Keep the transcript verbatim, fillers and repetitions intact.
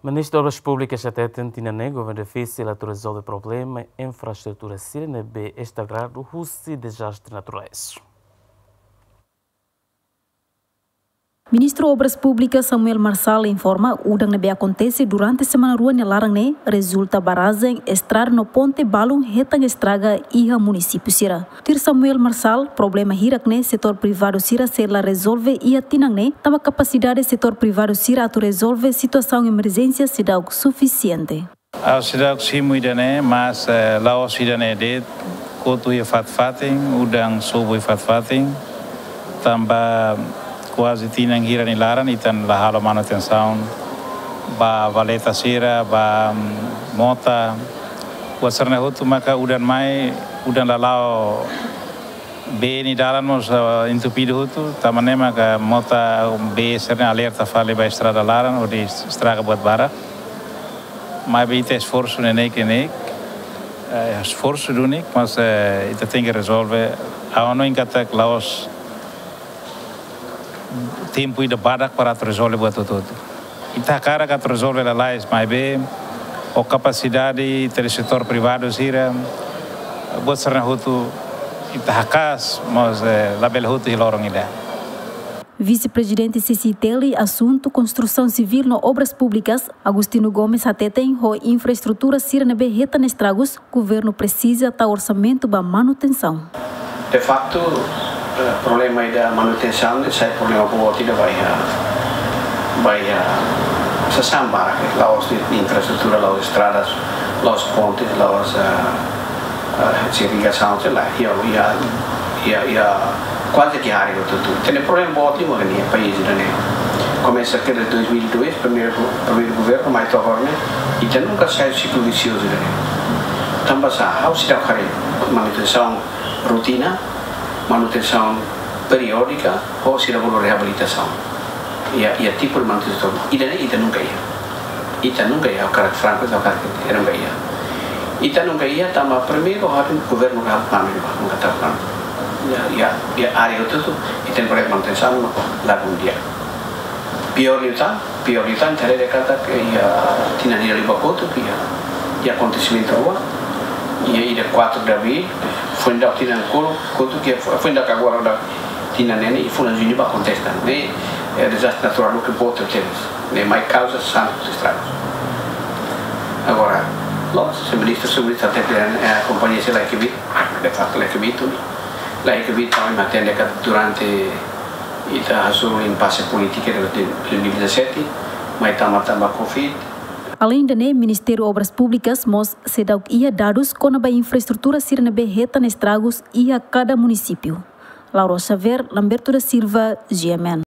Ministru Obras Públikas hateten tinan ne'e governu difisil atu rezolve problema infraestrutura sira ne'ebé estragadu husi dezastre naturais. Ministru Obras Públikas Samuel Marçal informa, udan ne'ebé akontese durante semana rua nia laran ne'e rezulta barajen, estrada no ponte balun hetan estraga iha munisípiu sira. Tuir Samuel Marçal, problema hirak ne'e setór privadu sira sei la rezolve iha tinan ne'e, tanba kapasidade setór privadu sira atu rezolve situasaun emerjénsia seidauk sufisiente. Ha'u seidauk simu ida-ne'e, mas, eh, la'ós ida-ne'e de'it, kotu iha fatin-fatin, udan sobu iha fatin-fatin, tanba kuaze tinan hira nia laran ita la halo manutensaun ba valeta sira, ba, mm, mota, buat sira-ne'e hotu maka udan mai, udan la la'o bee nia dalan mós, eh, entupidu hotu, tanba ne'e maka mota bee sira-ne'e alerta fali ba estrada laran, hodi estraga buat barak. Maibé ita esforsu neineik-neineik, eh, esforsu duni, mas, eh, ita tenke rezolve. Ha'u hanoin katak la'ós tempu ida badak para atu rezolve buat hotu-hotu. Ita hakarak atu rezolve lalais, maibé ho kapasidade ita-nia setór privadu sira, buat sira-ne'e hotu ita haka'as, mas, eh, labele hotu iha loron ida. Vise-Prezidente C C I T L, asuntu konstrusaun sivíl no obras públikas, Agostinho Gomes hateten, ho infraestrutura sira ne'ebé hetan estragus, governu presiza tau orsamentu ba manutensaun. De facto, eh, problema ida manutensaun ne'e sai problema boot ida ba iha, ba iha sasán barak, eh, la'ós infraestrutura, la'ós estradas, la'ós pontes, la'ós, eh, eh, irrigasaun, sei lá, iha, iha, iha, iha kuaze ke área hotu-hotu. Entaun problema boot mak iha país ida-ne'e. Komesa desde dois mil e dois, primeiru, primeiru governu, mai to'o agora ne'e, ita nunka sai siklu visiozu ida-ne'e. Tanba sá, ha'u seidauk haree manutensaun rotina, manutensaun periódika, ho sira bolu reabilitasaun. Iha, iha tipu de manutensaun. Ida-ne'e ita nunka iha. Ita nunka iha, ha'u hakarak franku, ha'u hakarak ita nunka iha. Ita nunka iha, tanba primeiru ha'u governu ka ha'u pami, nunka tau pami. Iha, iha, iha área hotu-hotu, ita-nia projetu manutensaun, lagun di'ak. Piór liután, piór liután, ita haree katak iha tinan hira liubá kotuk iha, iha akontesimentu rua, iha ida quatro de abril, foin daudauk tinan kotuk, kotuk iha, foin daudauk agora daudauk tinan ne'e, iha fulan juñu ba akontese tan. Ne'e, eh, dezastre naturál ne'ebé boot tebes. Ne'e mai kauza sasán estragus. Agora, la'ós, se ministru, se ministru hateten, eh, kompañia sira la ekibit, de facto la ekibit, la ekibit, tanba ita hatene katak durante ita hasoru impase polítika de, de dois mil e dezassete, mai tama tanba covid. Aleinde ne'e, Ministériu Obras Públikas mós seidauk iha dadus kona-ba infraestrutura sira ne'ebé hetan estragus iha kada munisípiu. Laura Xavier, Lamberto da Silva, G M N.